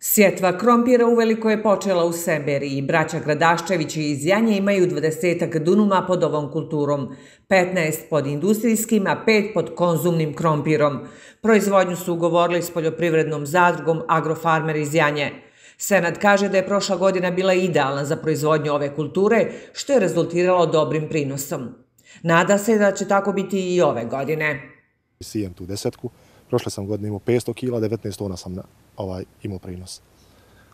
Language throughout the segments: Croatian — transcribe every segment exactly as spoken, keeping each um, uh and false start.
Sjetva krompira uveliko je počela u Semberiji. Braća Gradaščevići iz Janje imaju dvadesetak dunuma pod ovom kulturom, petnaest pod industrijskim, a pet pod konzumnim krompirom. Proizvodnju su ugovorili s poljoprivrednom zadrugom Agrofarmer iz Janje. Senad kaže da je prošla godina bila idealna za proizvodnju ove kulture, što je rezultiralo dobrim prinosom. Nada se da će tako biti i ove godine. Sijem tu desetku. Prošle sam godine imao petsto kila, devetnaest tona sam ovaj, imao prinos.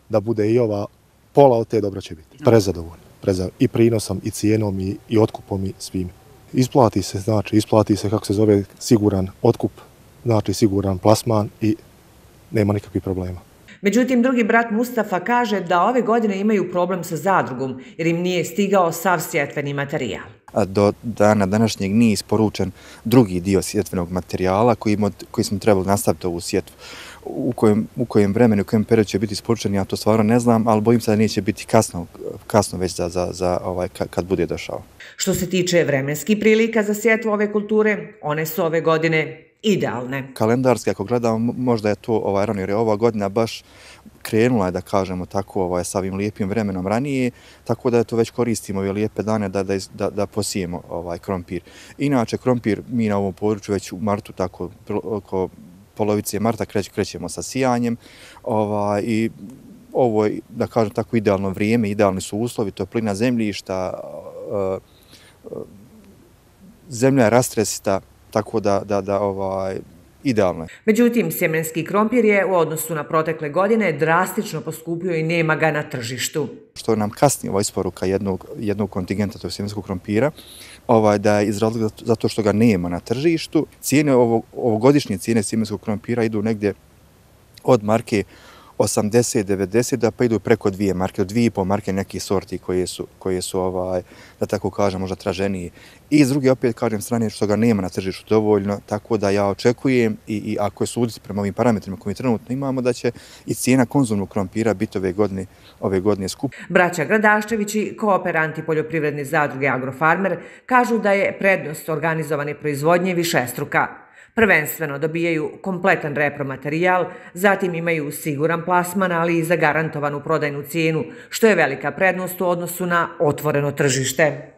Da bude i ova pola od te dobro će biti. Prezadovoljno. Preza, I prinosom, i cijenom, i, i otkupom, i svim. Isplati se, znači, isplati se, kako se zove, siguran otkup, znači siguran plasman i nema nikakvih problema. Međutim, drugi brat Mustafa kaže da ove godine imaju problem sa zadrugom, jer im nije stigao sav sjetveni materijal. Do dana današnjeg nije isporučen drugi dio sjetvenog materijala koji, koji smo trebali nastaviti ovu sjetvu. U kojem, u kojem vremenu, u kojem periodu će biti isporučen, ja to stvarno ne znam, ali bojim se da neće biti kasno, kasno već za, za, za ovaj, kad bude došao. Što se tiče vremenskih prilika za sjetvu ove kulture, one su ove godine idealne. Kalendarski, ako gledamo, možda je to ovaj, rano, jer je ova godina baš krenula je, da kažemo tako, ovaj, sa ovim lijepim vremenom ranije, tako da to već koristimo ove lijepe dane da, da, da, da posijemo ovaj, krompir. Inače, krompir mi na ovom području već u martu, tako oko polovice marta kreć, krećemo sa sijanjem ovaj, i ovo je, da kažem tako, idealno vrijeme, idealni su uslovi, toplina zemljišta, zemlja je rastresita, tako da, da, da ovaj, idealno je. Međutim, sjemenski krompir je u odnosu na protekle godine drastično poskupio i nema ga na tržištu. Što nam kasni ova isporuka jednog, jednog kontingenta tog sjemenskog krompira, ovaj, da je iz razloga zato što ga nema na tržištu. Cijene, ovo, ovogodišnje cijene sjemenskog krompira idu negdje od marke osamdeset devedeset da pa idu preko dvije marke, od dvije i pol marke nekih sorti koje su, koje su ovaj, da tako kažem, možda traženiji. I s druge, opet kažem, strane što ga nema na tržištu dovoljno, tako da ja očekujem i, i ako je suditi prema ovim parametrima koje trenutno imamo, da će i cijena konzumnog krompira biti ove godine, ove godine skup. Braća Gradaščevići, kooperanti poljoprivredne zadruge Agrofarmer, kažu da je prednost organizovane proizvodnje višestruka. Prvenstveno dobijaju kompletan repromaterijal, zatim imaju siguran plasman, ali i zagarantovanu prodajnu cijenu, što je velika prednost u odnosu na otvoreno tržište.